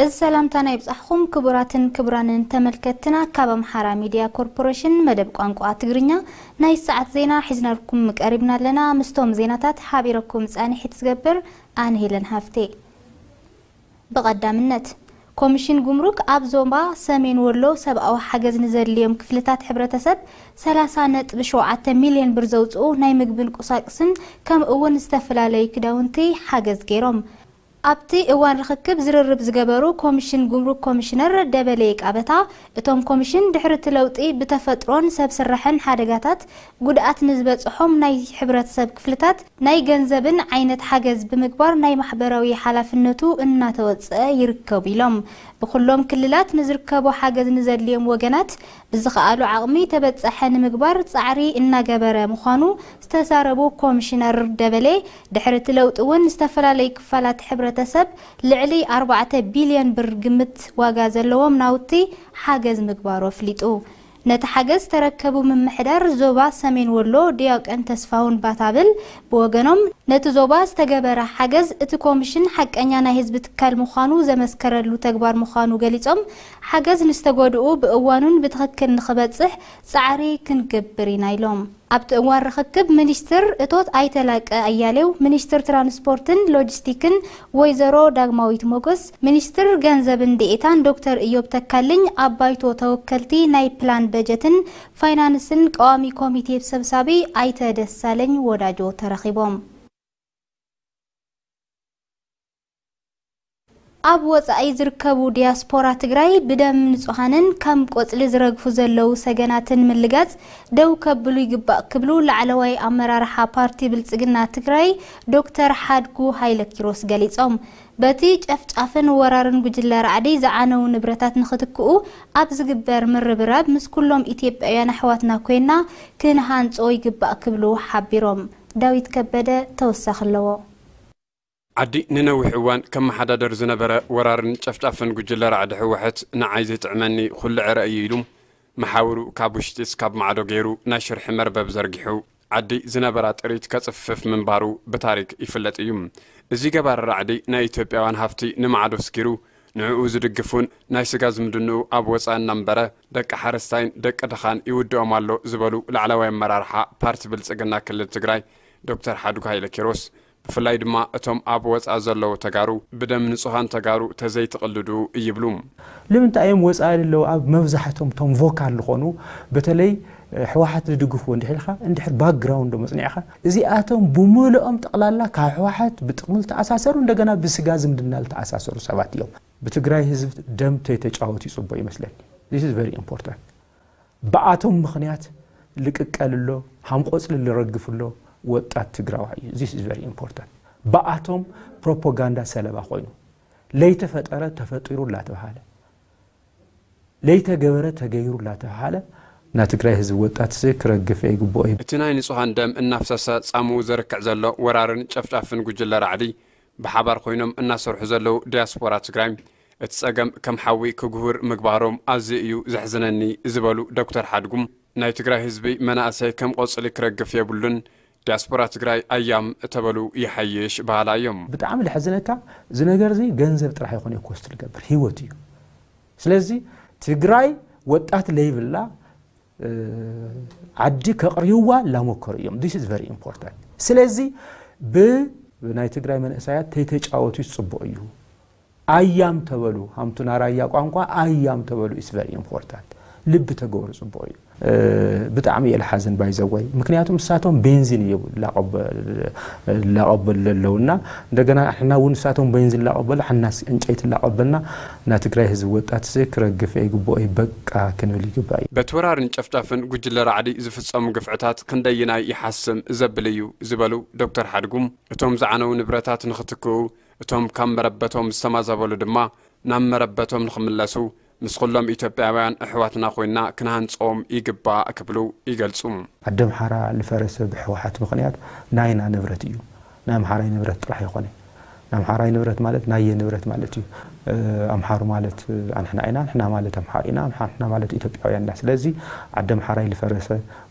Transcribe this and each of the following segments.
እዚ ሰላምታና ይብጻሕኹም ክቡራትን ክቡራንን ተመልከትትና፣ ካብ ኣምሓራ ሚድያ ኮርፖሬሽን መደብ ቋንቋ ትግርኛ ናይ ሰዓት ዜና ሒዝናልኩም ቀሪብና ኣለና። ምስቶም ዜናታት ሓቢረኩም ጻንሒት ዝገብር ኣነ ሄለን ሃፍቴ። ብቐዳምነት፣ ኮሚሽን ጉምሩክ ኣብ ዞባ ሰሜን ወሎ ሰብኣዊ ሓገዝ ንዘድልዮም ክፍልታት ሕብረተሰብ ሰላሳ ነጥቢ ሸውዓተ ሚልዮን ብር ዘውፅኡ ናይ ምግብን ቁሳቁስን ከምኡ እውን ዝተፈላለዩ ክዳውንቲ ሓገዝ ገይሮም። ኣብቲ እዋን ርኽክብ ዝርርብ ዝገበሩ ኮሚሽን ጉምሩክ ኮሚሽነር ደበሌ ቃበታ፣ እቶም ኮሚሽን ድሕሪ እቲ ለውጢ ብተፈጥሮን ሰብ ስራሕን ሓደጋታት ጉድኣት ንዝበፅሖም ናይ ሕብረተሰብ ክፍልታት ናይ ገንዘብን ዓይነት ሓገዝ ብምግባር ናይ ማሕበራዊ ሓላፍነቱ እናተወፀ ይርከቡ ኢሎም። ብኩሎም ክልላት ንዝርከቡ ሓገዝ ንዘድልዮም ወገናት ብዝኸኣሉ ዓቕሚ ተበፃሐ ንምግባር ፃዕሪ እናገበረ ምዃኑ ዝተዛረቡ ኮሚሽነር ደበሌ፣ ድሕሪ እቲ ለውጢ እውን ዝተፈላለዩ ክፋላት ሕብረተሰብ ልዕሊ ኣርባዕተ ቢልዮን ብር ግምት ዋጋ ዘለዎም ናውቲ ሓገዝ ምግባሩ ኣፍሊጡ። ነቲ ሓገዝ ተረከቡ ምምሕዳር ዞባ ሰሜን ወሎ ዲያቆን ተስፋሁን ባታብል ብወገኖም፣ ነቲ ዞባ ዝተገበረ ሓገዝ እቲ ኮሚሽን ሓቀኛ ናይ ህዝቢ ትካል ምዃኑ ዘመስከረሉ ተግባር ምዃኑ ገሊጾም፣ ሓገዝ ንዝተጎድኡ ብእዋኑን ብትኽክል ንኽበጽሕ ጻዕሪ ክንገብር ኢና ኢሎም። ኣብቲ እዋን ርኽክብ ሚኒስትር እቶት ኣይተ ላቀ ኣያሌው፣ ሚኒስትር ትራንስፖርትን ሎጂስቲክን ወይዘሮ ዳግማዊት ሞገስ፣ ሚኒስትር ገንዘብን ዴኤታን ዶክተር እዮብ ተካልኝ፣ ኣብ ባይቶ ተወከልቲ ናይ ፕላን በጀትን ፋይናንስን ቀዋሚ ኮሚቴ ሰብሳቢ ኣይተ ደሳለኝ ወዳጆ ተረኺቦም። ኣብ ወጻኢ ዝርከቡ ዲያስፖራ ትግራይ ብደም ንጹሃንን ከም ቆጽሊ ዝረግፉ ዘለዉ ሰገናትን ምልጋጽ ደው ከብሉ ይግባእ ክብሉ ላዕለዋይ ኣመራርሓ ፓርቲ ብልጽግና ትግራይ ዶክተር ሓድጉ ሃይለ ኪሮስ ገሊጾም። በቲ ጨፍጫፍን ወራርን ጉጅለ ራዕዲ ዝዓነዉ ንብረታት ንኽትክኡ ኣብ ዝግበር ምርብራብ ምስ ኩሎም ኢትዮጵያውያን ኣሕዋትና ኮይና ክንሃንጾ ይግባእ ክብሉ ሓቢሮም። ዳዊት ከበደ ተወሳኺ ኣለዎ። ዓዲ ንነዊሕ እዋን ከመሓዳደር ዝነበረ ወራርን ጨፍጫፍን ጉጅለ ራዕዲ ህወሓት ንዓይ ዘይጥዕመኒ ኩሉ ዕረ እዩ ኢሉ መሓውሩ ካብ ውሽጢ እስካብ ማዕዶ ገይሩ ናይ ሽርሒ መርበብ ዘርጊሑ ዓዲ ዝነበራ ጥሪት ከጽፍፍ ምንባሩ ብታሪክ ይፍለጥ እዩ። እዚ ገባሪ ራዕዲ ናይ ኢትዮጵያውያን ሃፍቲ ንማዕዶ ስኪሩ ንዕኡ ዝድግፉን ናይ ስጋ ዝምድንኡ ኣብ ወጻኢ እናንበረ ደቂ ሓረስታይን ደቂ ድኻን ይውድኦም ኣሎ ዝበሉ ላዕለዋይ ኣመራርሓ ፓርቲ ብልጽግና ክልል ትግራይ ዶክተር ሓድጉ ሃይለ ኪሮስ ብፍላይ ድማ እቶም ኣብ ወጻኢ ዘለዉ ተጋሩ ብደም ንጹሃን ተጋሩ ተዘይትቕልዱ ይብሉ። ንምንታይ እዮም ወጻኢ ዘለዉ ኣብ መብዛሕቶም እቶም ቮካል ዝኾኑ በተለይ ህወሓት ዝድግፍዎ እንድሕር ኢልካ እንድሕር ባክግራውንዶም ኣጽኒዕካ እዚኣቶም ብምልኦም ጠቕላላ ካብ ህወሓት ብጥቕሚ ዝተኣሳሰሩ እንደገና ብስጋ ዝምድና ዝተኣሳሰሩ ሰባት እዮም። ብትግራይ ህዝብ ደም ተይተጫወቱ ይጽቡቕ ይመስለኒ። This is very important። ብኣቶም ምኽንያት ልቅቀል ኣሎ፣ ሃም ቆጽሊ ልረግፍ ኣሎ ወጣት ትግራዋይ እዩ። This is very important። ብኣቶም ፕሮፓጋንዳ ሰለባ ኮይኑ ለይተፈጠረ ተፈጢሩ እናተባሃለ ለይተገበረ ተገይሩ እናተባሃለ ናይ ትግራይ ህዝቢ ወጣት ሲ ክረግፍ ይግብኦ እዩ። እቲ ናይ ንጹሃን ደም እናፍሰሰ ጻምኡ ዘርክዕ ዘሎ ወራርን ጨፍጫፍን ጉጅለ ራዕዲ ብሓባር ኮይኖም እናሰርሑ ዘለዉ ዲያስፖራ ትግራይ እቲ ጸገም ከም ሓዊ ክጉህር ምግባሮም ኣዝዩ እዩ ዘሕዝነኒ ዝበሉ ዶክተር ሓድጉም ናይ ትግራይ ህዝቢ መናእሰይ ከም ቆጽሊ ክረግፍ የብሉን፣ ዲያስፖራ ትግራይ ኣያም እተበሉ ይሓይሽ በሃላ እዮም። ብጣዕሚ ልሕዝነካ እዚ ነገር እዚ ገንዘብ ጥራሕ ይኾነ ኮስት ልገብር ህይወት እዩ። ስለዚ ትግራይ ወጣት ለይብላ ዓዲ ከቕርይዋ ላመከሩ እዮም። This is very important። ስለዚ ብናይ ትግራይ መንእሰያት ተይተጫወቱ ይጽቡቕ እዩ። ኣያም ተበሉ ሃምቱና ራያ ቋንቋ ኣያም ተበሉ is very important። ልቢ ተገብሩ ጽቡቕ እዩ። ብጣዕሚ እየ ልሓዝን ባይዘወይ ምክንያቱም ንሳቶም ቤንዚን እዩ ላቐበል ዘለውና እንደገና ሕና እውን ንሳቶም ቤንዚን ላቐበሉ ሕናስ ዕንጨይቲ ላቐበልና ናይ ትግራይ ህዝቢ ወጣት ሲ ክረግፍ ይግብኦ እዩ በቃ ክንብል ይግባእ እዩ። በቲ ወራርን ጨፍጫፍን ጉጅለ ራዕዲ ዝፍጸሙ ግፍዕታት ክንደይናይ ይሓስም ዘብል እዩ ዝበሉ ዶክተር ሓድጉም እቶም ዝዓነው ንብረታት ንኽትክኡ እቶም ካብ መረበቶም ዝተማዛበሉ ድማ ናብ መረበቶም ንኽምለሱ ምስ ኩሎም ኢትዮጵያውያን ኣሕዋትና ኮይና ክንሃንጾም ይግባእ ክብሉ ይገልጹ። ዓዲ ኣምሓራ ልፈረሰ ብህወሓት ምኽንያት ናይና ንብረት እዩ። ናይ ኣምሓራይ ንብረት ጥራሕ ይኾነ። ናይ ኣምሓራይ ንብረት ማለት ናየ ንብረት ማለት እዩ። ኣምሓሩ ማለት ኣንሕና ኢና፣ ኣንሕና ማለት ኣምሓሩ ኢና፣ ኣንሕና ማለት ኢትዮጵያውያን ኢና። ስለዚ ዓዲ ኣምሓራይ ልፈረሰ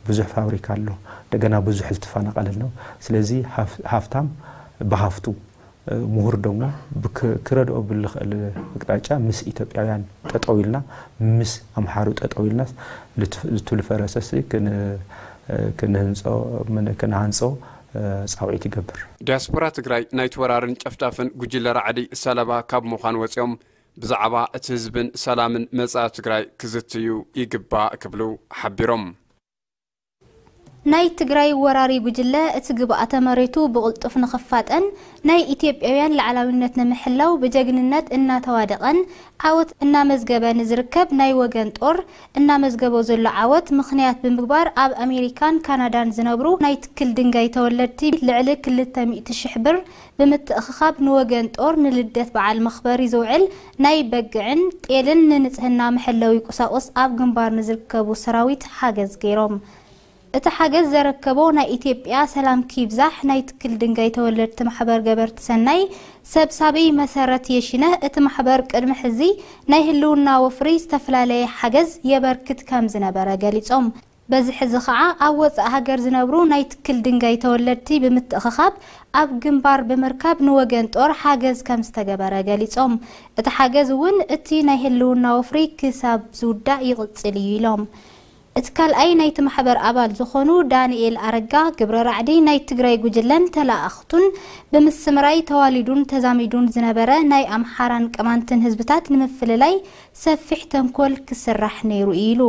ብዙሕ ፋብሪካ ኣሎ፣ እንደገና ብዙሕ ዝተፈናቐለ ኣሎ። ስለዚ ሃፍታም ብሃፍቱ፣ ምሁር ደሞ ክረድኦ ብልኽእል ኣቅጣጫ ምስ ኢትዮጵያውያን ጠጠው ኢልና፣ ምስ ኣምሓሩ ጠጠው ኢልናስ ልቱ ልፈረሰ ክንሃንጾ ጻውዒት ይገብር። ዲያስፖራ ትግራይ ናይቲ ወራርን ጨፍጫፍን ጉጅለ ራዕዲ ሰለባ ካብ ምዃን ወፂኦም ብዛዕባ እቲ ህዝብን ሰላምን መጻኢ ትግራይ ክዝትዩ ይግባእ ክብሉ ሓቢሮም። ናይ ትግራይ ወራሪ ጉጅለ እቲ ግብኣተ መሬቱ ብቕልጡፍ ንኽፋጠን ናይ ኢትዮጵያውያን ላዕላዊነት ንምሕላው ብጀግንነት እናተዋደቐን ዓወት እናመዝገበ ንዝርከብ ናይ ወገን ጦር እናመዝገቦ ዘሎ ዓወት ምኽንያት ብምግባር ኣብ ኣሜሪካን ካናዳን ዝነብሩ ናይ ትክል ድንጋይ ተወለድቲ ልዕሊ ክልተ ሚእቲ ሽሕ ብር ብምትእኽኻብ ንወገን ጦር ንልደት በዓል መኽበሪ ዝውዕል ናይ በግዕን ጤልን ንንፅህና መሐለዊ ቁሳቁስ ኣብ ግንባር ንዝርከቡ ሰራዊት ሓገዝ ገይሮም። እቲ ሓገዝ ዘረከቦ ናይ ኢትዮጵያ ሰላምኪ ይብዛሕ ናይ ትክል ድንጋይ ተወለድቲ ማሕበር ገበርቲ ሰናይ ሰብሳቢ መሰረት የሺነህ፣ እቲ ማሕበር ቅድሚ ሕዚ ናይ ህልውና ወፍሪ ዝተፈላለየ ሓገዝ የበርክት ከም ዝነበረ ገሊጾም። በዚ ሕዚ ኸዓ ኣብ ወጻኢ ሃገር ዝነብሩ ናይ ትክል ድንጋይ ተወለድቲ ብምትእኽኻብ ኣብ ግንባር ብምርካብ ንወገን ጦር ሓገዝ ከም ዝተገበረ ገሊጾም። እቲ ሓገዝ እውን እቲ ናይ ህልውና ወፍሪ ክሳብ ዝውዳእ ይቕጽል እዩ ኢሎም። እቲ ካልኣይ ናይቲ ማሕበር ኣባል ዝኾኑ ዳንኤል ኣረጋ፣ ግብረ ራዕዲ ናይ ትግራይ ጉጅለን ተለኣእኽቱን ብምስምራይ ተዋሊዱን ተዛሚዱን ዝነበረ ናይ ኣምሓራን ቅማንትን ህዝብታት ንምፍልላይ ሰፊሕ ተንኮል ክስራሕ ነይሩ ኢሉ።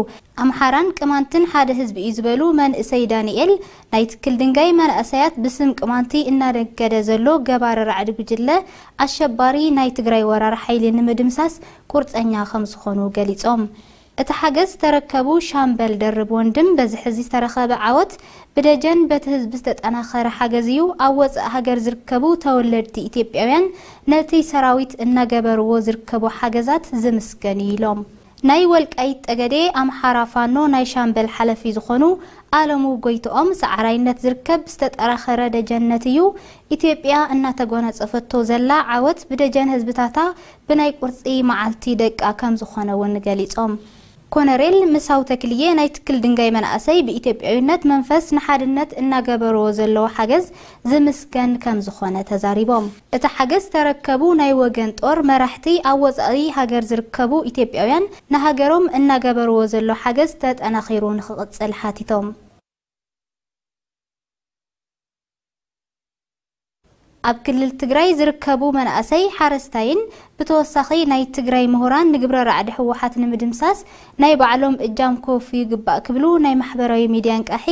ኣምሓራን ቅማንትን ሓደ ህዝቢ እዩ ዝበሉ መንእሰይ ዳንኤል፣ ናይ ትክል ድንጋይ መናእሰያት ብስም ቅማንቲ እናነገደ ዘሎ ገባሪ ራዕዲ ጉጅለ ኣሸባሪ ናይ ትግራይ ወራር ሓይሊ ንምድምሳስ ቁርፀኛ ከም ዝኾኑ ገሊፆም። እቲ ሓገዝ ዝተረከቡ ሻምበል ደርብ ወንድም፣ በዚ ሕዚ ዝተረኸበ ዓወት ብደጀን በቲ ህዝቢ ዝተጠናኸረ ሓገዝ እዩ። ኣብ ወፃኢ ሃገር ዝርከቡ ተወለድቲ ኢትዮጵያውያን ነቲ ሰራዊት እናገበርዎ ዝርከቡ ሓገዛት ዝምስገን እዩ ኢሎም። ናይ ወልቃይት ጠገዴ ኣምሓራ ፋኖ ናይ ሻምበል ሓለፊ ዝኾኑ ኣለሙ ጎይትኦም፣ ሰዓራይነት ዝርከብ ዝተጠራኸረ ደጀነት እዩ። ኢትዮጵያ እናተጎናጸፈቶ ዘላ ዓወት ብደጀን ህዝብታታ ብናይ ቁርጺ መዓልቲ ደቃ ከም ዝኾነ እውን ገሊጾም። ኮነሬል ምሳው ተክልዬ ናይ ትክል ድንጋይ መናእሰይ ብኢትዮጵያዊነት መንፈስ ንሓድነት እናገበርዎ ዘለዎ ሓገዝ ዝምስገን ከም ዝኾነ ተዛሪቦም። እቲ ሓገዝ ዝተረከቡ ናይ ወገን ጦር መራሕቲ ኣብ ወጻኢ ሃገር ዝርከቡ ኢትዮጵያውያን ንሃገሮም እናገበርዎ ዘሎ ሓገዝ ተጠናኺሩ ንኽቕጽል ሓቲቶም። ኣብ ክልል ትግራይ ዝርከቡ መናእሰይ ሓረስታይን ብተወሳኺ ናይ ትግራይ ምሁራን ንግብረ ራዕዲ ህወሓት ንምድምሳስ ናይ ባዕሎም እጃም ከወፍዩ ይግባእ ክብሉ ናይ ማሕበራዊ ሚድያ ኣንቃሒ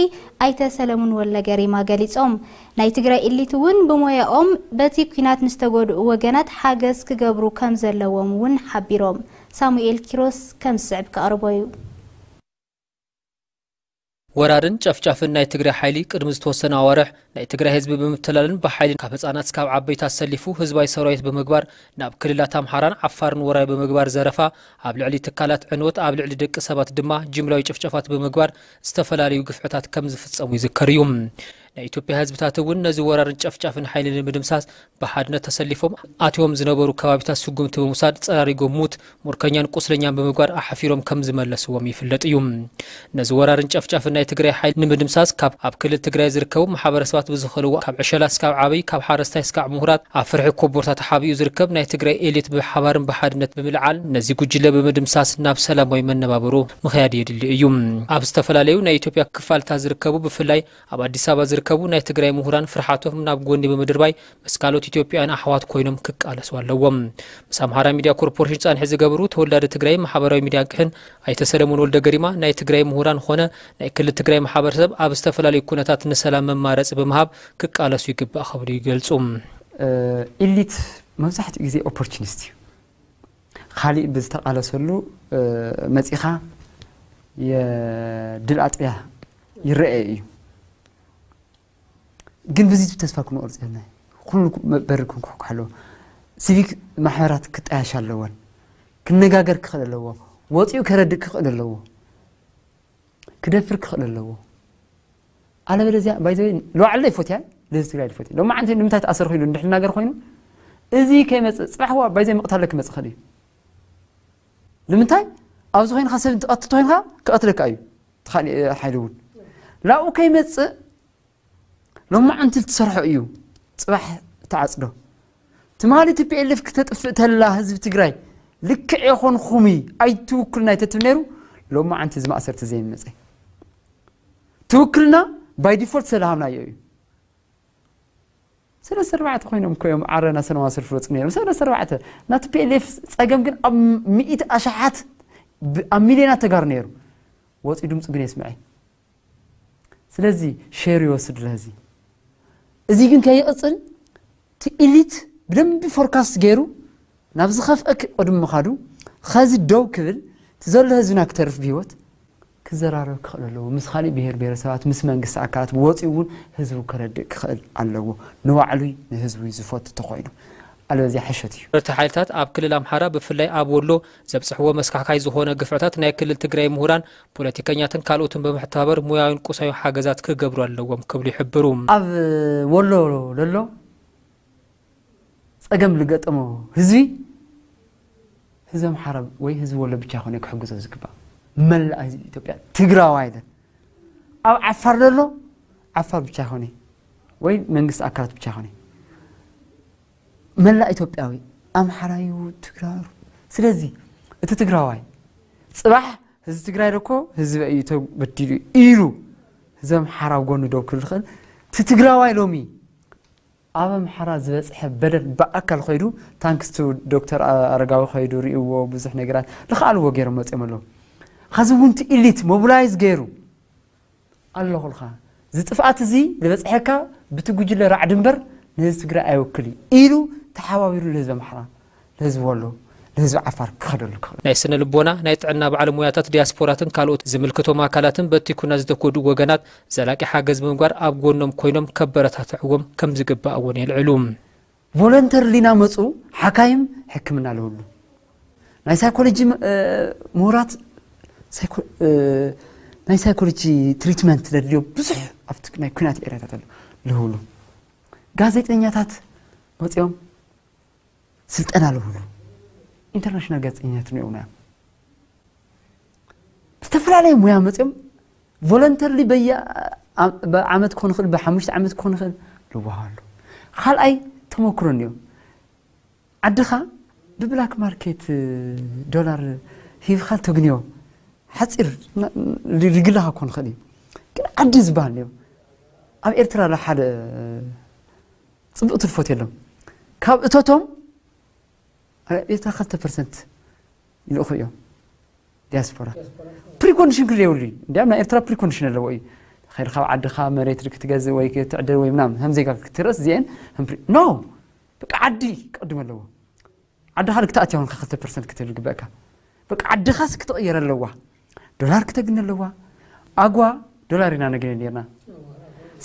ኣይተ ሰለሙን ወልደገሪማ ገሊጾም። ናይ ትግራይ ኢሊት እውን ብሞያኦም በቲ ኲናት ንዝተጎድኡ ወገናት ሓገዝ ክገብሩ ከም ዘለዎም እውን ሓቢሮም። ሳሙኤል ኪሮስ ከም ዝስዕብ ከቕርቦ እዩ። ወራርን ጨፍጫፍን ናይ ትግራይ ሓይሊ ቅድሚ ዝተወሰነ ኣዋርሕ ናይ ትግራይ ህዝቢ ብምትላልን ብሓይሊ ካብ ህፃናት እስካብ ዓበይቲ ኣሰሊፉ ህዝባዊ ሰራዊት ብምግባር ናብ ክልላት ኣምሓራን ዓፋርን ወራይ ብምግባር ዘረፋ፣ ኣብ ልዕሊ ትካላት ዕንወት፣ ኣብ ልዕሊ ደቂ ሰባት ድማ ጅምላዊ ጭፍጨፋት ብምግባር ዝተፈላለዩ ግፍዕታት ከም ዝፍፀሙ ይዝከር እዩ። ናይ ኢትዮጵያ ህዝብታት እውን ነዚ ወራርን ጨፍጫፍን ሓይሊ ንምድምሳስ ብሓድነት ተሰሊፎም ኣትዮም ዝነበሩ ከባቢታት ስጉምቲ ብምውሳድ ጸራሪጎም ሙት፣ ሙርከኛን ቁስለኛን ብምግባር ኣሓፊሮም ከም ዝመለስዎም ይፍለጥ እዩ። ነዚ ወራርን ጨፍጫፍን ናይ ትግራይ ሓይሊ ንምድምሳስ ካብ ኣብ ክልል ትግራይ ዝርከቡ ማሕበረሰባት ብዝኸልዎ ካብ ዕሸላ እስካብ ዓበይ፣ ካብ ሓረስታይ እስካብ ምሁራት ኣብ ፍርሒ ኮቦርታ ተሓቢኡ ዝርከብ ናይ ትግራይ ኤሊት ብሓባርን ብሓድነት ብምልዓል ነዚ ጉጅለ ብምድምሳስ ናብ ሰላማዊ መነባብሮ ምኽያድ የድሊ እዩ። ኣብ ዝተፈላለዩ ናይ ኢትዮጵያ ክፋልታት ዝርከቡ ብፍላይ ኣብ ኣዲስ ኣበባ ዝርከቡ ናይ ትግራይ ምሁራን ፍርሓቶም ናብ ጎኒ ብምድርባይ ምስ ካልኦት ኢትዮጵያውያን ኣሕዋት ኮይኖም ክቃለሱ ኣለዎም። ምስ ኣምሓራ ሚድያ ኮርፖሬሽን ጻንሒ ዝገብሩ ተወላዲ ትግራይ ማሕበራዊ ሚድያ ቅሕን ኣይተ ሰለሙን ወልደ ገሪማ ናይ ትግራይ ምሁራን ኾነ ናይ ክልል ትግራይ ማሕበረሰብ ኣብ ዝተፈላለዩ ኩነታት ንሰላም መማረፂ ብምሃብ ክቃለሱ ይግባእ ክብሉ ይገልፁ። ኢሊት መብዛሕትኡ ግዜ ኦፖርቹኒስት እዩ። ካሊእ ብዝተቃለሰሉ መፂኻ የድል ኣጥቢያ ይረኣየ እዩ። ግን ብዚ ተስፋ ክንቆርፅ የብልና። ኩሉ በሪ ክንኩሕኩሕ ኣለዎ። ሲቪክ ማሕበራት ክጣያሽ ኣለወን። ክነጋገር ክኽእል ኣለዎ። ወፂኡ ከረድእ ክኽእል ኣለዎ፣ ክደፍር ክኽእል ኣለዎ። ኣለበለዚያ ባይዘወይ ለዋዕለ ይፎትያ፣ ለዚ ትግራይ ይፎትያ። ሎማዓንቲ ንምንታይ ተኣሰር ኮይኑ እንድሕር ናገር ኮይኑ፣ እዚ ከይመፅእ ፅባሕ ዋ ባይዘ ምቕታለ ክመፅእ ኽእል እዩ። ንምንታይ ኣብዚ ኮይንካ ሰብ እንትቐትል ኮይንካ ክቐትለካ እዩ። ትኻሊ ሓይሊ እውን ላኡ ከይመፅእ ሎማዓንቲ ትሰርሖ እዩ። ፅባሕ ተዓፅዶ ትማሊ ቲ ፒ ኤል ኤፍ ክተጥፍእ ተላ ህዝቢ ትግራይ ልክዕ የኾንኹም ኣይትውክልና ይተትብ ነይሩ። ሎማዓንቲ እዚ ማእሰርቲ ዘይመፀ ትውክልና ባይ ዲፎልት ስለሃብናዮ እዩ። ሰለስተ ኣርባዕተ ኮይኖም እኮ እዮም ዓረና ሰለማዊ ሰልፊ ወፁ ነይሮም። ሰለስተ ኣርባዕተ ናቲ ፒ ኤል ኤፍ ፀገም ግን ኣብ ሚእቲ ኣሽሓት ብ- ኣብ ሚልዮናት ተጋሩ ነይሩ። ወፂኡ ድምፁ ግን የስምዐ። ስለዚ ሼር ይወስድ ለዚ እዚ ግን ከይቕፅል እቲ ኢሊት ብደንቢ ፎርካስት ገይሩ ናብ ዝኸፍአ ክ- ቅድሚ ምኻዱ ኸዚ ደው ክብል እቲ ዘሎ ህዝብና ክተርፍ ብህይወት ክዘራረብ ክኽእል ኣለዎ። ምስ ካሊእ ብሄር ብሄረሰባት ምስ መንግስቲ ኣካላት ወፂኡ እውን ህዝቡ ከረድእ ክኽእል ኣለዎ። ንባዕሉይ ንህዝቡ ዝፈቱ ተኾይኑ ኣለበዚያ ሕሸት እዩ። እቲ ሓይልታት ኣብ ክልል ኣምሓራ ብፍላይ ኣብ ወሎ ዘብፅሕዎ መስካሕካይ ዝኾነ ግፍዕታት ናይ ክልል ትግራይ ምሁራን፣ ፖለቲከኛትን ካልኦትን ብምሕተባበር ሙያዊን ቁሳዊ ሓገዛት ክገብሩ ኣለዎም ክብሉ ይሕብሩ። ኣብ ወሎ ዘሎ ፀገም ዝገጠሞ ህዝቢ ህዝቢ ኣምሓራ ወይ ህዝቢ ወሎ ብቻ ይኮነ ክሕግዞ ዝግባእ፣ መላእ ህዝቢ ኢትዮጵያ ትግራዋይ ኢለ ኣብ ዓፋር ዘሎ ዓፋር ብቻ ይኮነ ወይ መንግስቲ ኣካላት ብቻ ይኮነ መላእ ኢትዮጵያዊ ኣምሓራዩ ትግራሩ። ስለዚ እቲ ትግራዋይ ፅባሕ ህዝቢ ትግራይ ደኮ ህዝቢ እዩ ተበዲሉ ኢሉ ህዝቢ ኣምሓራ ኣብ ጎኑ ደው ክብል ዝኽእል እቲ ትግራዋይ ሎሚ ኣብ ኣምሓራ ዝበፅሐ በደል ብኣካል ከይዱ ታንክስ ቱ ዶክተር ኣረጋዊ ከይዱ ርእይዎ ብዙሕ ነገራት ልኽኣልዎ ገይሮም መፅኦም ኣለዉ። ኸዚ እውን እቲ ኢሊት ሞቢላይዝ ገይሩ ኣለኹልካ እዚ ጥፍኣት እዚ ዝበፅሐካ ብቲ ጉጅለ ራዕዲ እምበር ንህዝቢ ትግራይ ኣይወክል እዩ ኢሉ ተሓባቢሩ ንህዝቢ ኣምሓራ ንህዝቢ ወሎ ንህዝቢ ዓፋር ክኸደሉ ክኽእል። ናይ ስነ ልቦና ናይ ጥዕና ባዕለ ሙያታት ዲያስፖራትን ካልኦት ዝምልክቶም ኣካላትን በቲ ኩናት ዝተጎድኡ ወገናት ዘላቂ ሓገዝ ብምግባር ኣብ ጎኖም ኮይኖም ከበረታትዕዎም ከም ዝግባእ እውን የልዕሉ። ቮለንተርሊ ናመፁ ሓካይም ሕክምና ለውሉ ናይ ሳይኮሎጂ ምሁራት ናይ ሳይኮሎጂ ትሪትመንት ለድልዮ ብዙሕ ኣብቲ ናይ ኩናት ኤሪያታት ኣሎ ለውሉ ጋዜጠኛታት መፅኦም ስልጠና ለውሉ ኢንተርናሽናል ጋዜጠኛታት ንየውና ዝተፈላለዩ ሙያ መፅኦም ቮለንተርሊ በየ ዓመት ክኾን ይኽእል ብሓሙሽተ ዓመት ክኾን ይኽእል ልዋሃሉ ካልኣይ ተመክሮ እኒኦ ዓድኻ ብብላክ ማርኬት ዶላር ሂብካ ተግንዮ ሓፂር ሪግላኻ ክኾን ይኽእል እዩ ግን ዓዲ ዝበሃል እኒኦ ኣብ ኤርትራ ሓደ ፅቡቅ ትልፎት የሎም ካብ እቶቶም ኤርትራ ክልተ ፐርሰንት ይልእኹ እዮም ዲያስፖራ ፕሪኮንዲሽን ክል የብሉ እዩ እንዲያም ናይ ኤርትራ ፕሪኮንዲሽን ኣለዎ እዩ ከይድ ካብ ዓድኻ መሬት ክትገዝእ ወይ ክትዕድር ወይ ምናምን ከም ዜጋ ክትርስ እዚአን ኖ በቃ ዓዲ ክቅድም ኣለዎ ዓድኻ ክትኣትያ እውን ክልተ ፐርሰንት ክትብል ግበእካ በቃ ዓድኻስ ክትቕየር ኣለዋ ዶላር ክተግኒ ኣለዋ ኣጓ ዶላር ኢና ነግኒ ነርና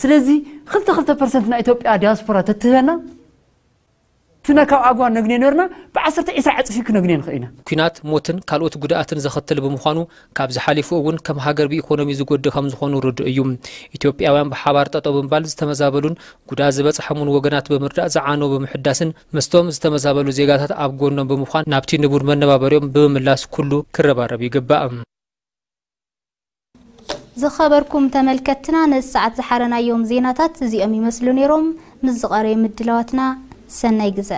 ስለዚ ክልተ ክልተ ፐርሰንት ናይ ኢትዮጵያ ዲያስፖራ ተትህበና ትነ ካብ ኣጓ ነግኔ ነርና ብዓሰርተ ዒስራ ዕፅፊ ክነግኔ ንኽእል ኢና ኩናት ሞትን ካልኦት ጉድኣትን ዘኸትል ብምዃኑ ካብዚ ሓሊፉ እውን ከም ሃገር ብኢኮኖሚ ዝጎድእ ከም ዝኾኑ ርዱእ እዩ ኢትዮጵያውያን ብሓባር ጠጠው ብምባል ዝተመዛበሉን ጉድኣት ዝበፅሐሙን ወገናት ብምርዳእ ዝዓነው ብምሕዳስን ምስቶም ዝተመዛበሉ ዜጋታት ኣብ ጎኖም ብምዃን ናብቲ ንቡር መነባበሪኦም ብምምላስ ኩሉ ክረባረብ ይግባእ ዝኸበርኩም ተመልከትና ነዚ ሰዓት ዝሓረናዮም ዜናታት እዚኦም ይመስሉ ነይሮም ምስ ዝቐረዩ ምድላዋትና ሰናይ ግዘ